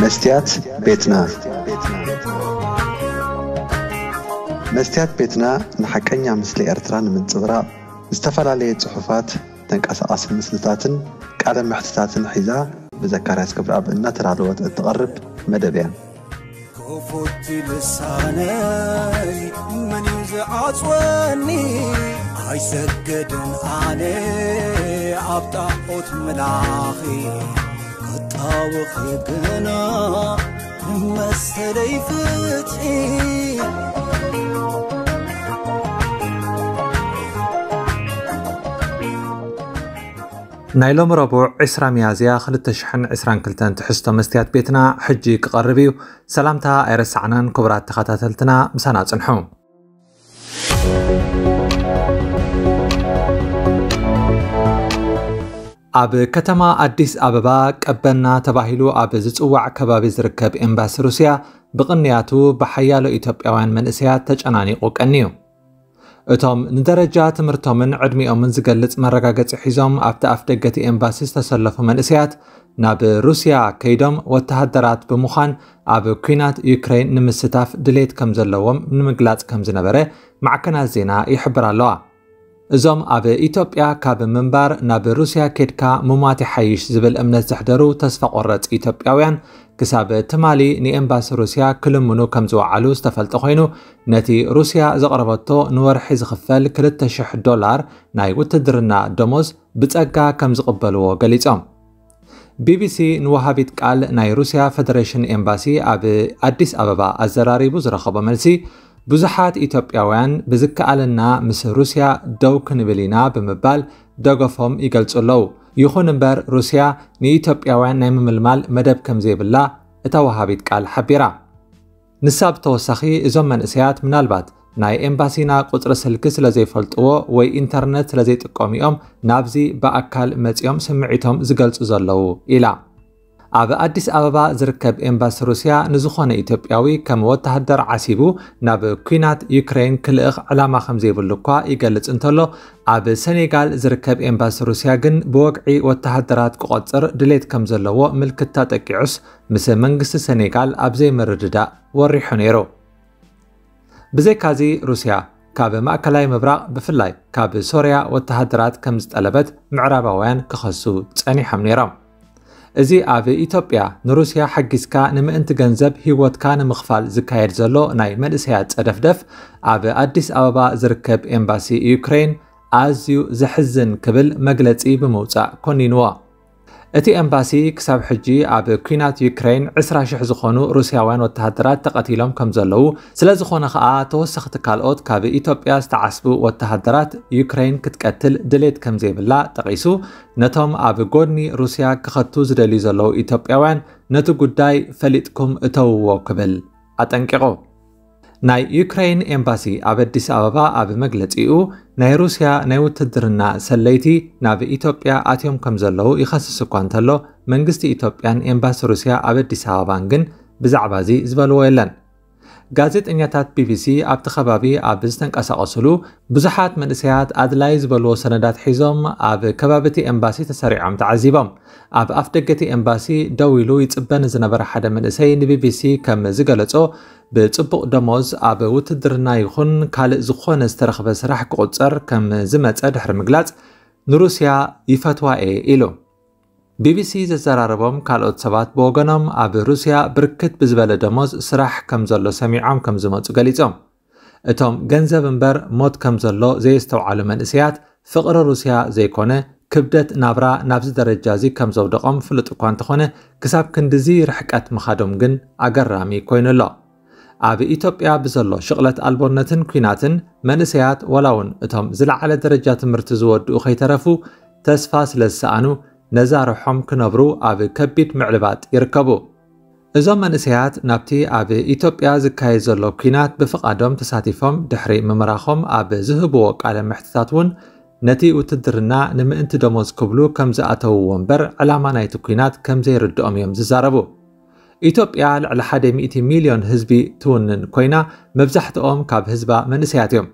መስትያት ቤትና። መስትያት ቤትና ንሓቀኛ ምስሊ ኤርትራ ንምንጽብራቕ ዝተፈላለየ ጽሑፋት፣ ተንቀሳቓሲ ምስልታትን ቃለ መሕትታትን ሒዛ ብዘካርያስ ገብረኣብ እናተዳለወት እትቐርብ መደብ እያ። ክፉት ልሳነይ መን እዩ ዝዓጽወኒ? ኣይሰግድን ኣነ ኣብ ጣዖት ምላኺ፣ ክጣወኺ ግና መሰለይ ፍትሒ። ናይ ሎሚ ረቡዕ ዕስራ ሚያዝያ ክልተ ሽሕን ዕስራን ክልተን ትሕዝቶ መስትያት ቤትና ሕጂ ክቐርብ እዩ። ሰላምታ ኣይረሳዕናን፣ ክቡራት ተኸታተልትና ምሳና ጽንሑ። ኣብ ከተማ ኣዲስ ኣበባ ቀበና ተባሂሉ ኣብ ዝጽዋዕ ከባቢ ዝርከብ ኤምባሲ ሩስያ ብቕንያቱ ብሓያሎ ኢትዮጵያውያን መንእሰያት ተጨናኒቑ ቀንዩ። እቶም ንደረጃ ትምህርቶምን ዕድሚኦምን ዝገልጽ መረጋገጺ ሒዞም ኣብቲ ኣፍ ደገ እቲ ኤምባሲ ዝተሰለፉ መንእሰያት፣ ናብ ሩስያ ከይዶም ወተሃደራት ብምዃን ኣብ ኲናት ዩክሬን ንምስታፍ ድሌት ከም ዘለዎም ንምግላጽ ከም ዝነበረ ማዕከናት ዜና ይሕብራ ኣለዋ። እዞም ኣብ ኢትዮጵያ ካብ ምንባር ናብ ሩስያ ኬድካ ምሟት ይሓይሽ ዝብል እምነት ዘሕደሩ ተስፋ ቆረጽ ኢትዮጵያውያን፣ ክሳብ ትማሊ ንኤምባሲ ሩስያ ክልምኑ ከም ዝወዓሉ ዝተፈልጠ ኮይኑ፣ ነቲ ሩስያ ዘቕረበቶ ንወርሒ ዝኽፈል ክልተ ሽሕ ዶላር ናይ ውትድርና ደሞዝ ብጸጋ ከም ዝቕበልዎ ገሊጾም። ቢቢሲ ንወሃቢት ቃል ናይ ሩስያ ፈደሬሽን ኤምባሲ ኣብ ኣዲስ ኣበባ ኣዘራሪቡ ዝረኸቦ መልሲ፣ ብዙሓት ኢትዮጵያውያን ብዝከኣለና ምስ ሩስያ ደው ክንብል ኢና ብምባል ደገፎም ይገልጹ ኣለዉ። ይኹን እምበር፣ ሩስያ ንኢትዮጵያውያን ናይ ምምልማል መደብ ከም ዘይብላ እታ ወሃቢት ቃል ሓቢራ። ንሳ ብተወሳኺ፣ እዞም መንእሰያት ምናልባት ናይ ኤምባሲና ቁጽሪ ስልኪ ስለ ዘይፈልጥዎ ወይ ኢንተርነት ስለ ዘይጥቀሙ እዮም ናብዚ ብኣካል መጺኦም ስምዒቶም ዝገልጹ ዘለዉ ኢላ። ኣብ ኣዲስ ኣበባ ዝርከብ ኤምባሲ ሩስያ ንዝኾነ ኢትዮጵያዊ ከም ወተሃደር ዓሲቡ ናብ ኲናት ዩክሬን ክልእኽ ዕላማ ከም ዘይብሉ እኳ ይገልጽ እንተሎ፣ ኣብ ሰኔጋል ዝርከብ ኤምባሲ ሩስያ ግን ብወግዒ ወተሃደራት ክቖጽር ድሌት ከም ዘለዎ ምልክታ ጠቂዑስ ምስ መንግስቲ ሰኔጋል ኣብ ዘይምርድዳእ ወሪሑ ነይሩ። ብዘይካዚ ሩስያ ካብ ማእከላይ ምብራቕ ብፍላይ ካብ ሶርያ ወተሃደራት ከም ዝጠለበት ምዕራባውያን ክኸሱ ጸኒሖም ነይሮም። እዚ ኣብ ኢትዮጵያ ንሩስያ ሓጊዝካ ንምእንቲ ገንዘብ ህይወትካ ንምኽፋል ዝካየድ ዘሎ ናይ መንእሰያት ጸደፍደፍ ኣብ ኣዲስ ኣበባ ዝርከብ ኤምባሲ ዩክሬን ኣዝዩ ዘሕዝን ክብል መግለጺ ብምውጻእ ኮኒንዎ። እቲ ኤምባሲ ክሳብ ሕጂ ኣብ ኲናት ዩክሬን ዕስራ ሽሕ ዝኾኑ ሩስያውያን ወተሃደራት ተቐቲሎም ከም ዘለዉ፣ ስለ ዝኾነ ከኣ ተወሰኽቲ ካልኦት ካብ ኢትዮጵያ ዝተዓስቡ ወተሃደራት ዩክሬን ክትቀትል ድሌት ከም ዘይብላ ጠቒሱ፣ ነቶም ኣብ ጎድኒ ሩስያ ክኸቱ ዝደልዩ ዘለዉ ኢትዮጵያውያን ነቲ ጉዳይ ፈሊጥኩም እተውዎ ክብል ኣጠንቂቑ። ናይ ዩክሬን ኤምባሲ ኣብ ኣዲስ ኣበባ ኣብ መግለጺኡ፣ ናይ ሩስያ ናይ ውትድርና ሰለይቲ ናብ ኢትዮጵያ ኣትዮም ከም ዘለዉ ይኸስስ እኳ እንተሎ፣ መንግስቲ ኢትዮጵያን ኤምባሲ ሩስያ ኣብ ኣዲስ ኣበባን ግን ብዛዕባ እዚ ዝበልዎ የለን። ጋዜጠኛታት ቢቢሲ ኣብቲ ከባቢ ኣብ ዝተንቀሳቐስሉ፣ ብዙሓት መንእሰያት ኣድላይ ዝበልዎ ሰነዳት ሒዞም ኣብ ከባቢ እቲ ኤምባሲ ተሰሪዖም ተዓዚቦም። ኣብ ኣፍ ደገ እቲ ኤምባሲ ደው ኢሉ ይጽበ ንዝነበረ ሓደ መንእሰይ ንቢቢሲ ከም ዝገለጾ፣ ብጽቡቕ ደሞዝ ኣብ ውትድርና ይኹን ካልእ ዝኾነ ዝተረኽበ ስራሕ ክቑጸር ከም ዝመጸ ድሕሪ ምግላጽ፣ ንሩስያ ይፈትዋ እየ ኢሉ። ቢቢሲ ዘዘራረቦም ካልኦት ሰባት ብወገኖም፣ ኣብ ሩስያ ብርክት ብዝበለ ደሞዝ ስራሕ ከም ዘሎ ሰሚዖም ከም ዝመጹ ገሊጾም። እቶም ገንዘብ እምበር ሞት ከም ዘሎ ዘየስተውዓሉ መንእሰያት፣ ፍቕሪ ሩስያ ዘይኮነ፣ ክብደት ናብራ ናብዚ ደረጃ እዚ ከም ዘውደቖም ፍሉጥ እኳ እንተኾነ፣ ክሳብ ክንድዚ ርሕቀት ምኻዶም ግን ኣገራሚ ኮይኑ ኣሎ። ኣብ ኢትዮጵያ ብዘሎ ሽቕለት ኣልቦነትን ኲናትን፣ መንእሰያት ዋላ እውን እቶም ዝለዓለ ደረጃ ትምህርቲ ዝወድኡ ከይተረፉ፣ ተስፋ ስለ ዝሰኣኑ፣ ነዛ ርሖም ክነብሩ ኣብ ከቢድ ምዕልባጥ ይርከቡ። እዞም መንእሰያት ናብቲ ኣብ ኢትዮጵያ ዝካየድ ዘሎ ኲናት ብፍቓዶም ተሳቲፎም ድሕሪ ምምራኾም ኣብ ዝህብዎ ቃለ መሕትታት እውን፣ ነቲ ውትድርና ንምእንቲ ደሞዝ ክብሉ ከም ዝኣተውዎ እምበር፣ ዕላማ ናይቲ ኲናት ከም ዘይርድኦም እዮም ዝዛረቡ። ኢትዮጵያ ልዕሊ ሓደ ሚእቲ ሚልዮን ህዝቢ ትውንን ኮይና፣ መብዛሕትኦም ካብ ህዝባ መንእሰያት እዮም።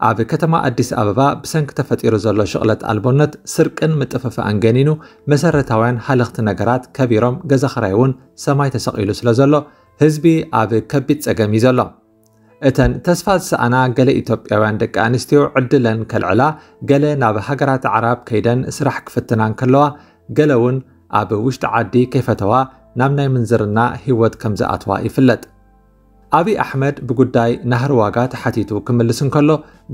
ኣብ ከተማ ኣዲስ ኣበባ ብሰንኪ ተፈጢሩ ዘሎ ሽቕለት ኣልቦነት፣ ስርቅን ምጥፍፋእን ገኒኑ፣ መሰረታውያን ሃለኽቲ ነገራት ከቢሮም፣ ገዛ ኽራይ እውን ሰማይ ተሰቒሉ ስለ ዘሎ፣ ህዝቢ ኣብ ከቢድ ጸገም እዩ ዘሎ። እተን ተስፋ ዝሰኣና ገለ ኢትዮጵያውያን ደቂ ኣንስትዮ ዕድለን ከልዕላ፣ ገለ ናብ ሃገራት ኣዕራብ ከይደን ስራሕ ክፍትና እንከለዋ፣ ገለ እውን ኣብ ውሽጢ ዓዲ ከይፈተዋ ናብ ናይ ምንዝርና ህይወት ከም ዝኣትዋ ይፍለጥ። ኣብይ ኣሕመድ ብጉዳይ ናህሪ ዋጋ ተሓቲቱ ክምልስ እንከሎ፣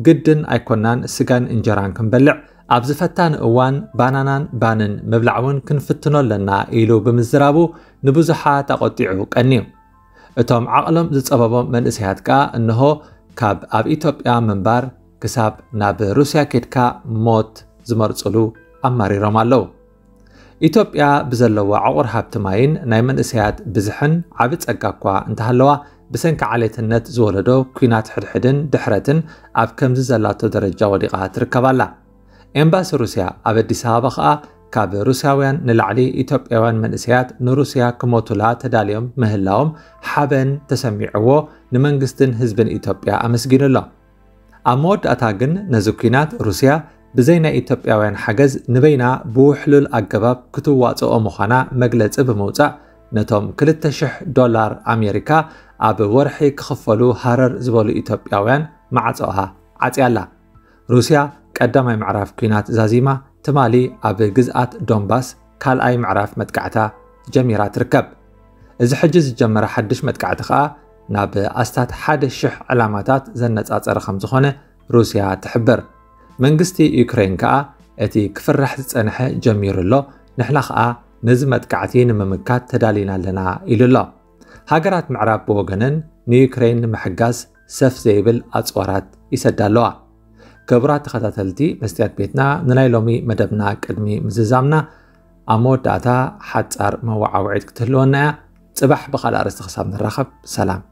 ግድን ኣይኮናን ስጋን እንጀራን ክንበልዕ፣ ኣብዚ ፈታኒ እዋን ባናናን ባንን ምብላዕ እውን ክንፍትኖ ኣለና ኢሉ ብምዝራቡ፣ ንብዙሓት ኣቖጢዑ ቀንዩ። እቶም ዓቕሎም ዝጸበቦም መንእሰያት ከኣ እንሆ ካብ ኣብ ኢትዮጵያ ምንባር ክሳብ ናብ ሩስያ ኬድካ ሞት ዝመርጽሉ ኣማሪሮም ኣለዉ። ኢትዮጵያ ብዘለዋ ዕቑር ሃብቲ ማይን ናይ መንእሰያት ብዝሕን ዓቢ ጸጋ እኳ እንተሃለዋ፣ ብሰንኪ ዓሌትነት ዝወለዶ ኲናት ሕድሕድን ድሕረትን ኣብ ከምዚ ዘላቶ ደረጃ ወዲቓ ትርከብ ኣላ። ኤምባሲ ሩስያ ኣብ ኣዲስ ኣበባ ከኣ፣ ካብ ሩስያውያን ንላዕሊ ኢትዮጵያውያን መንእሰያት ንሩስያ ክሞቱላ ተዳልዮም ምህላዎም ሓበን ተሰሚዕዎ ንመንግስትን ህዝብን ኢትዮጵያ ኣመስጊኑ ኣሎ። ኣብ መወዳእታ ግን ነዚ ኲናት ሩስያ ብዘይ ናይ ኢትዮጵያውያን ሓገዝ ንበይና ብውሕሉል ኣገባብ ክትዋጽኦ ምዃና መግለጺ ብምውጻእ፣ ነቶም ክልተ ሽሕ ዶላር ኣሜሪካ ኣብ ወርሒ ክኽፈሉ ሃረር ዝበሉ ኢትዮጵያውያን ማዕጾኣ ዓጽያላ። ሩስያ ቀዳማይ ምዕራፍ ኲናት ዛዚማ፣ ትማሊ ኣብ ግዝኣት ዶንባስ ካልኣይ ምዕራፍ መጥቃዕታ ጀሚራ ትርከብ። እዚ ሕጂ ዝጀመረ ሓድሽ መጥቃዕቲ ከኣ ናብ ኣስታት ሓደ ሽሕ ዕላማታት ዘነጻጸረ ከም ዝኾነ ሩስያ ትሕብር። መንግስቲ ዩክሬን ከኣ እቲ ክፍራሕ ዝጸንሐ ጀሚሩ ኣሎ፣ ንሕና ከኣ ነዚ መጥቃዕቲ ንምምካት ተዳሊና ኣለና ኢሉ ኣሎ። ሃገራት ምዕራብ ብወገነን ንዩክሬን ንምሕጋዝ ሰፍ ዘይብል ኣጽዋራት ይሰዳ ኣለዋ። ክቡራት ተኸታተልቲ መስትያት ቤትና፣ ንናይ ሎሚ መደብና ቅድሚ ምዝዛምና፣ ኣብ መወዳእታ ሓጻር መወዓውዒት ክትህልወና እያ። ጽባሕ ብኻልእ ኣርእስቲ ክሳብ ንራኸብ፣ ሰላም።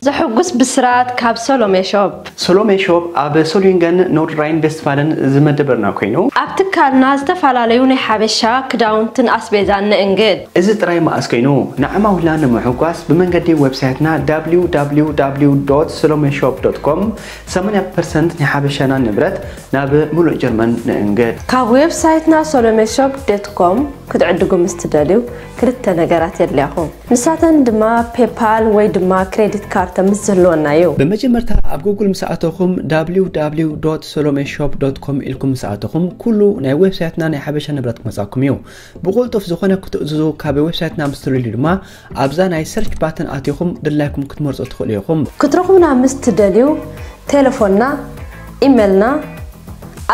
ዘሐጉስ ብስራት ካብ ሰሎሜ ሾፕ። ሰሎሜ ሾፕ ኣብ ሶሊንገን ኖርድራይን ቬስትፋለን ዝመደበርና ኮይኑ፣ ኣብ ትካልና ዝተፈላለዩ ናይ ሓበሻ ክዳውንትን ኣስቤዛን ንእንግድ። እዚ ጥራይ መኣስ ኮይኑ፣ ንዓማዊልና ንምሕጓስ ብመንገዲ ዌብሳይትና www.solomeshop.com ሰማንያ ፐርሰንት ናይ ሓበሻና ንብረት ናብ ሙሉእ ጀርመን ንእንግድ። ካብ ዌብሳይትና solomeshop.com ክትዕድጉ ምስ ትደልዩ ክልተ ነገራት የድልያኹም። ንሳተን ድማ ፔፓል ወይ ድማ ክሬዲት ካርድ ምስ ዝህልወና እዩ። ብመጀመርታ ኣብ ጉግል ምስ ኣተኹም www.solomeshop.com ኢልኩም ምስ ኣተኹም ኩሉ ናይ ዌብሳይትና ናይ ሓበሻ ንብረት ክመጻኩም እዩ። ብቑልጡፍ ዝኾነ ክትእዝዙ ካብ ዌብሳይትና ምስ ትልልዩ ድማ ኣብዛ ናይ ሰርች ባተን ኣቲኹም ድላይኩም ክትመርጹ ትኽእሉ ኢኹም። ክትረኹብና ምስ ትደልዩ ቴሌፎንና፣ ኢሜልና፣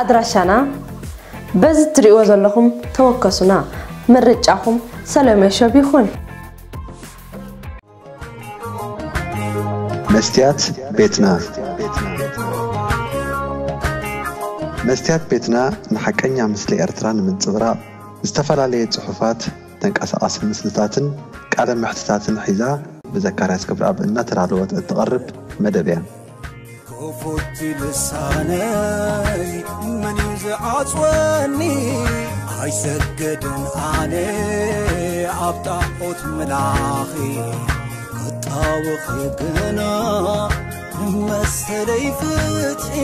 ኣድራሻና በዚ ትሪእዎ ዘለኹም ተወከሱና። ምርጫኹም ሰለሜ ሾፕ ይኹን። መስትያት ቤትና። መስትያት ቤትና ንሓቀኛ ምስሊ ኤርትራ ንምንጽብራቕ ዝተፈላለየ ጽሑፋት፣ ተንቀሳቓሲ ምስልታትን ቃለ መሕትታትን ሒዛ ብዘካርያስ ክብረኣብ እናተዳለወት እትቐርብ መደብ እያ። ክፉት ልሳነይ መን እዩ ዝዓጽወኒ? ኣይሰግድን ኣነ ኣብ ጣዖት ምላኺ ክጣወኺ ግና መሰለይ ፍትሒ